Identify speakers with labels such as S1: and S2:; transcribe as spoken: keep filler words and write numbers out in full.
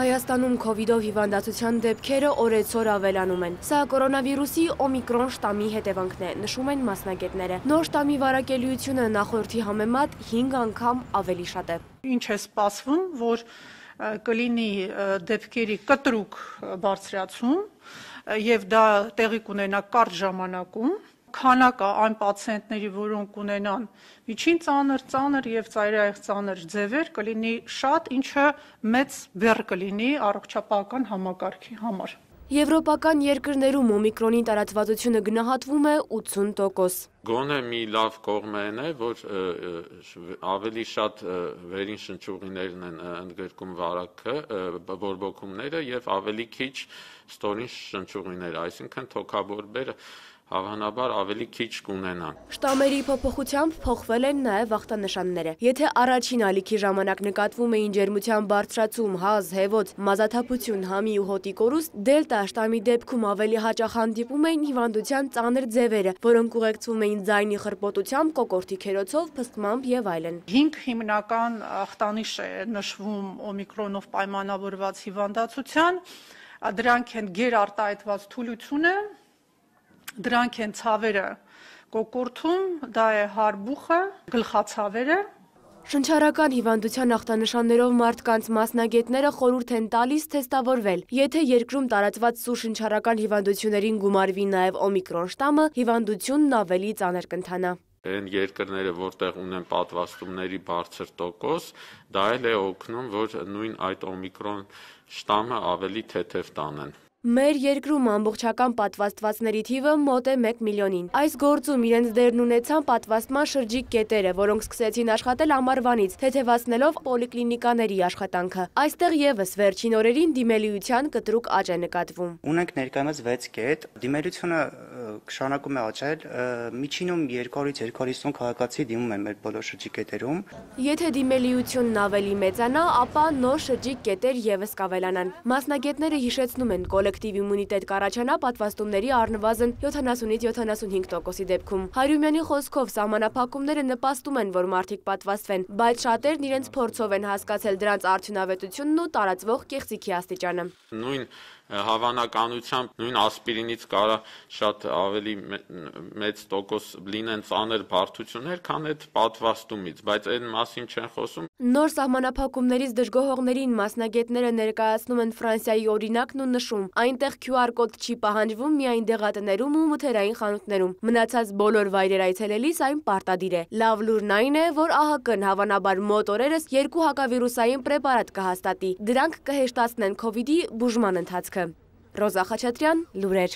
S1: Հայաստանում քովիդով հիվանդացության դեպքերը օրեցօր ավելանում են։ Սա կորոնավիրուսի օմիկրոն շտամի հետևանքն է, նշում են մասնագետները։ Նոր շտամի վարակելիությունը նախորդի համեմատ հինգ անգամ ավելի շատ է։
S2: Ինչ է սպասվում, որ կլինի դեպքերի կտրուկ բարձրացում եւ դա տեղի կունենա կարճ ժամանակում։ Քանակը այն պացիենտների, որոնք ունենան միջին ծանր, ծանր եւ ծայրահեղ ծանր ձևեր, կլինի շատ, ինչը մեծ բեռ կլինի առողջապահական համակարգի համար։
S1: Եվրոպական երկրներում օմիկրոնի տարածվածությունը գնահատվում է ութսուն տոկոս։
S3: Գոնե մի լավ կողմն է, որ ավելի շատ վերին շնչուղիներն են ընդգրկում վարակը, բորբոքումները եւ ավելի քիչ ստորին շնչուղիները, այսինքն թոքաբորբերը հավանաբար ավելի քիչ կունենան։
S1: Շտամերի փոփոխությամբ փոխվել են նաև ախտանշանները։ Եթե առաջին ալիքի ժամանակ նկատվում էին ջերմության բարձրացում, հազ, հեվոց, մազաթափություն, համի ու հոտի կորուստ, դելտա շտամի դեպքում ավելի հաճախ հանդիպում էին հիվանդության ծանր ձևերը, որոնք ուղեկցվում էին ձայնի խրպոտությամբ, կոկորդի քերոցով, փսկմամբ եւ այլն։
S2: Հինգ հիմնական ախտանիշ է նշվում օմիկրոնով պայմանավորված հիվանդացության, դրանք են գերարտահայտված թուլությունը, դրանք են ցավերը կոկորդում, դա է հարբուխը, գլխացավերը։
S1: Շնչառական հիվանդության ախտանշաններով մարդկանց մասնագետները խորհուրդ են տալիս թեստավորվել։ Եթե երկրում տարածված սուր շնչառական հիվանդություններին գումարվի նաև օմիկրոն շտամը, հիվանդությունն ավելի ծանր կընթանա։
S3: Այն երկրները, որտեղ ունեն պատվաստումների բարձր տոկոս, դա էլ է օգնում, որ նույն այդ օմիկրոն շտամը ավելի թեթև տանեն։
S1: Մեր երկրում ամբողջական պատվաստվածների թիվը մոտ է մեկ միլիոնին։ Այս գործում իրենց դերն ունեցան պատվաստման շրջիկ կետերը, որոնք սկսեցին աշխատել ամառվանից, թեթևացնելով պոլիկլինիկաների աշխատանքը։ Այստեղ եւս վերջին օրերին դիմելիության կտրուկ աճ է նկատվում։
S4: Ունենք ներկայումս վեց կետ, դիմելիությունը շարունակում է աճել, միջինում երկրորդ երկու հարյուր հիսուն քաղաքացի դիմում են մեր բոլոր շրջիկ կետերում։
S1: Եթե դիմելիությունն ավելի մեծանա, ապա նոր շրջիկ կետեր եւս կավելանան։ Մասնագետները հիշեցնում են կոլեկտիվ իմունիտետ կառաջանա պատվաստումների առնվազն յոթանասունից յոթանասունհինգ տոկոսի դեպքում։ Հարյումյանի խոսքով սահմանափակումները նպաստում են, որ մարդիկ պատվաստվեն, բայց շատերն իրենց փորձով են հասկացել դրանց արդյունավետությունն ու տարածվող կեղծիքի աստիճանը։
S3: Նույն հավանականությամբ նույն ասպիրինից կարա շատ ավելի մեծ տոկոս լինեն ծանր բարդություններ, քան այդ պատվաստումից, բայց այն մասին չեն խոսում։
S1: Նոր սահմանափակումներից դժգոհողներին մասնագետները ներկայացնում են Ֆրանսիայի օրինակն ու նշում, այնտեղ քյու ար կոդ չի պահանջվում միայն դեղատներում ու մթերային խանութներում։ Մնացած բոլոր վայրեր այցելելիս այն պարտադիր է։ Լավ լուրն այն է, որ ԱՀԿ-ն հավանաբար մոտ օրերս երկու հակավիրուսային պրեպարատ կհաստատի։ Դրանք կհեշտացնեն քովիդի բուժման ընթացքը։ Ռոզա Խաչատրյան, լուրեր։